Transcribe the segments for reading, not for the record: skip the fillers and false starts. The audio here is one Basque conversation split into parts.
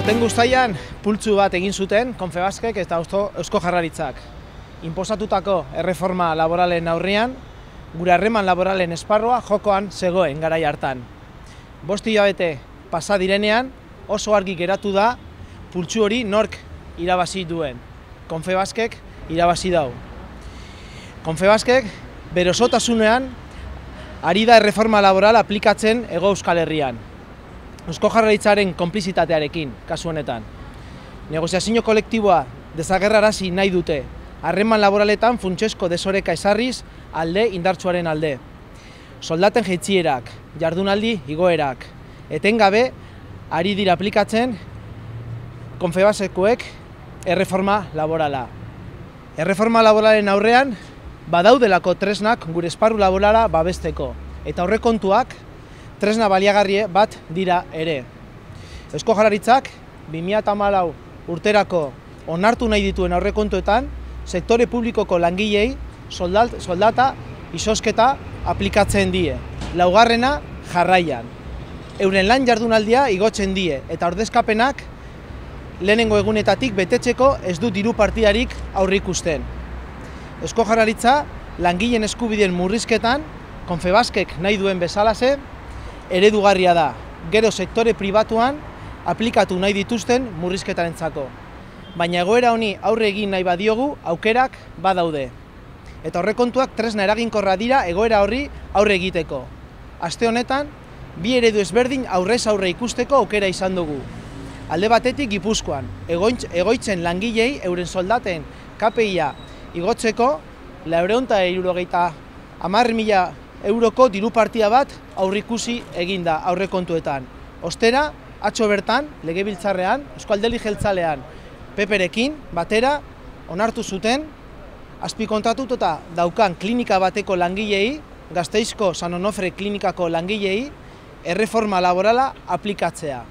Aurten uztailean pultsu bat egin zuten Confebaskek eta Eusko Jaurlaritzak. Inposatutako erreforma laboralen aurrean, gure harreman laboralen esparrua jokoan zegoen garai hartan. 5 hilabete pasa direnean oso argi geratu da pultsu hori nork irabazi duen. Confebaskek irabazi dau. Confebaskek bere osotasunean ari da erreforma laboral aplikatzen Hego Euskal Herrian. Eusko Jaurlaritzaren konplizitatearekin, kasu honetan. Negoziazio kolektiboa desagerrarazi nahi dute, harreman laboraletan funtsezko desoreka ezarriz alde indartsuaren alde. Soldaten jaitsierak, jardunaldi igoerak, etengabe ari dira aplikatzen Confebaskekoek erreforma laborala. Erreforma laboralen aurrean badaudelako tresnak gure esparru laborala babesteko, eta aurrekontuak tresna baliagarri bat dira ere. Eusko Jaurlaritzak 2014 urterako onartu nahi dituen aurrekontuetan sektore publikoko langilei soldata izozketa aplikatzen die. Laugarrena jarraian. Euren lan jardunaldia igotzen die eta ordezkapenak lehenengo egunetatik betetzeko ez du diru partidarik aurreikusten. Eusko Jaurlaritza langileen eskubideen murrizketan Confebaskek nahi duen bezalaxe eredugarria da, gero sektore pribatuan aplikatu nahi dituzten murrizketarentzako. Baina egoera honi aurre egin nahi badiogu, aukerak badaude. Eta aurrekontuak tresna eraginkorra dira egoera horri aurre egiteko. Aste honetan, bi eredu ezberdin aurrez aurre ikusteko aukera izan dugu. Alde batetik Gipuzkoan, egoitzen langilei euren soldaten KPI-a igotzeko 470.000 euroko diru partida bat aurreikusi eginda aurrekontuetan. Ostera, atzo bertan, legebiltzarrean, Eusko Alderdi Jeltzalean, PPrekin batera onartu zuten azpikontratuta daukan klinika bateko langilei, Gasteizko San Onofre klinikako langilei, erreforma laborala aplikatzea.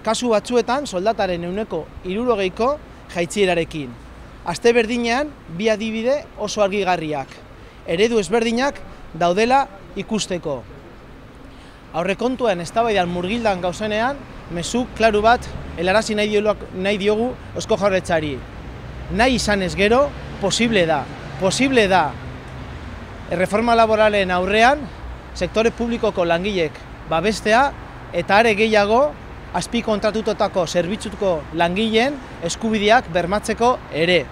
Kasu batzuetan soldataren 60%ko jaitsierarekin. Aste berdinean, bi adibide oso argigarriak. Eredu ezberdinak daudela ikusteko. Aurrekontuen eztabaidan murgildan gauzenean, mezu klaru bat helarazi nahi diogu Eusko Jaurlaritzari. Nahi izanez gero, posible da. Erreforma laboralen aurrean, sektore publikoko langilek babestea eta are gehiago azpikontratutako zerbitzuko langileen eskubideak bermatzeko ere.